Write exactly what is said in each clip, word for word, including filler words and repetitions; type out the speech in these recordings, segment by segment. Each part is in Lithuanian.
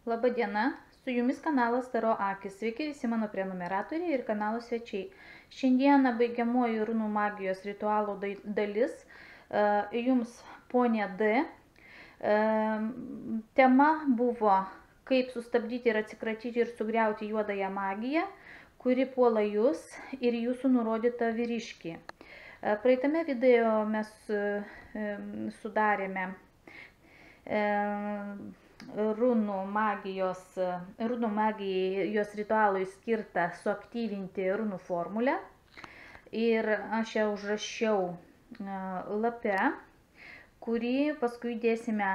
Laba diena, su jumis kanalas Taro Akis. Sveiki visi mano prenumeratoriai ir kanalo svečiai. Šiandieną baigiamoji runų magijos ritualo dalis. Jums ponė D. Tema buvo, kaip sustabdyti ir atsikratyti ir sugriauti juodąją magiją, kuri puola jūs ir jūsų nurodytą vyriškį. Praeitame video mes sudarėme runų magijos, runų magijai, jos ritualui skirtą suaktyvinti runų formulę. Ir aš ją užrašiau lape, kurį paskui dėsime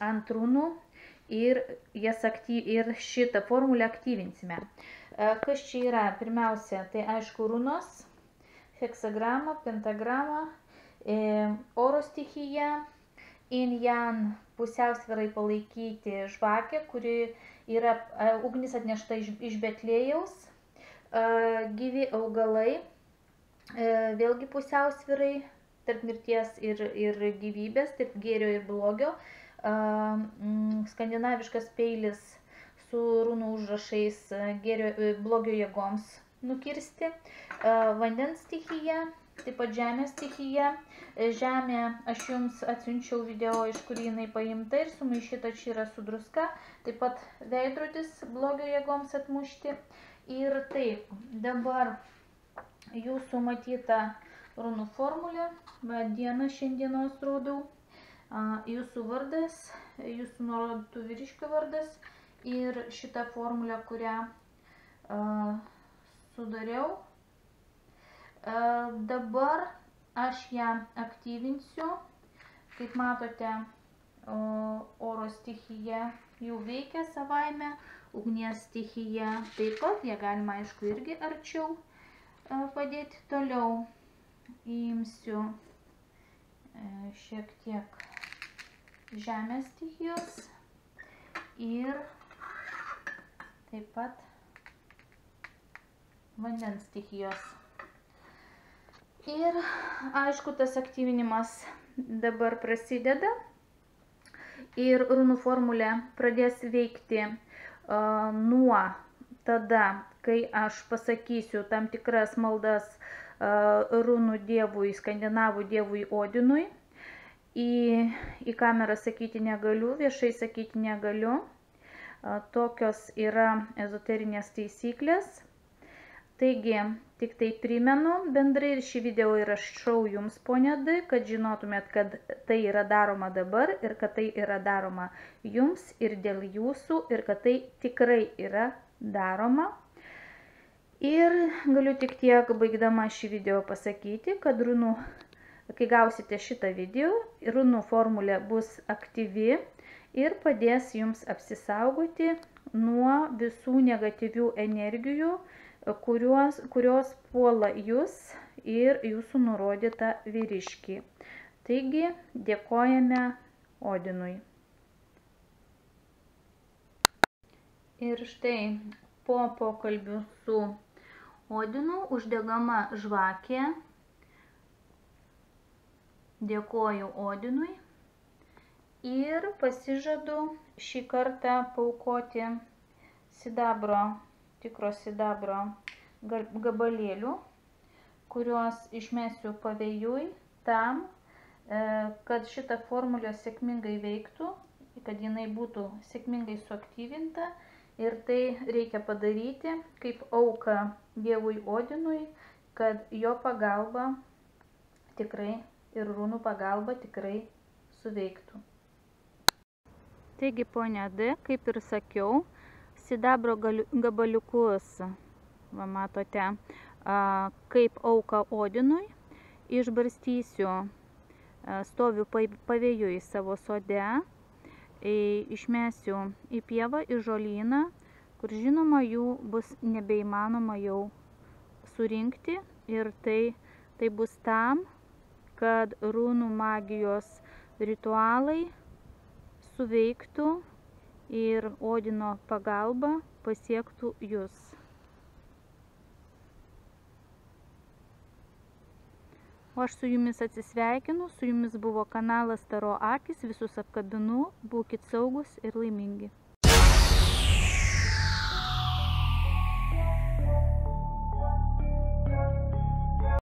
ant runų ir, jas aktyv, ir šitą formulę aktyvinsime. Kas čia yra? Pirmiausia, tai aišku runos, heksagramą, pentagramą, oro stichiją, in jan pusiausvyrai palaikyti žvakę, kuri yra ugnis atnešta iš Betlėjaus, gyvi augalai, vėlgi pusiausvyrai tarp mirties ir, ir gyvybės, tarp gėrio ir blogio, skandinaviškas peilis su runų užrašais gėrio, blogio jėgoms nukirsti, vandens stichija, taip pat žemės stichija. Žemė, aš jums atsiunčiau video, iš kur jinai paimta ir sumaišyta čia yra su druska, taip pat veidrodis blogio jėgoms atmušti. Ir taip, dabar jūsų matyta runų formulė, dieną šiandienos rodau, jūsų vardas, jūsų nurodytų vyriškio vardas ir šitą formulę, kurią sudariau. Dabar aš ją aktyvinsiu. Kaip matote, oro stichija jau veikia savaime, ugnies stichija taip pat, ją galima aišku irgi arčiau padėti. Toliau imsiu šiek tiek žemės stichijos ir taip pat vandens stichijos. Ir aišku, tas aktyvinimas dabar prasideda ir runų formulė pradės veikti uh, nuo tada, kai aš pasakysiu tam tikras maldas uh, runų dievui, skandinavų dievui Odinui. Į, į kamerą sakyti negaliu, viešai sakyti negaliu. Uh, tokios yra ezoterinės taisyklės. Taigi, tik tai primenu bendrai ir šį video įrašau jums, ponė D, kad žinotumėt, kad tai yra daroma dabar ir kad tai yra daroma jums ir dėl jūsų ir kad tai tikrai yra daroma. Ir galiu tik tiek baigdama šį video pasakyti, kad runų, kai gausite šitą video, runų formulė bus aktyvi ir padės jums apsisaugoti nuo visų negatyvių energijų, Kurios, kurios puola jūs ir jūsų nurodytą vyriškį. Taigi, dėkojame Odinui. Ir štai po pokalbių su Odinu uždegama žvakė. Dėkoju Odinui ir pasižadu šį kartą paaukoti sidabro tikro sidabro gabalėlių, kuriuos išmesiu pavėjui tam, kad šita formulė sėkmingai veiktų, kad jinai būtų sėkmingai suaktyvinta. Ir tai reikia padaryti kaip auką dievui Odinui, kad jo pagalba tikrai ir runų pagalba tikrai suveiktų. Taigi, ponia D, kaip ir sakiau, sidabro gabaliukus, va, matote, kaip auką Odinui, išbarstysiu, stoviu pavėjui savo sode, išmesiu į pievą, į žolyną, kur žinoma jų bus nebeįmanoma jau surinkti ir tai, tai bus tam, kad runų magijos ritualai suveiktų ir Odino pagalba pasiektų jūs. O aš su jumis atsisveikinu, su jumis buvo kanalas Taro Akis, visus apkabinu, būkit saugus ir laimingi.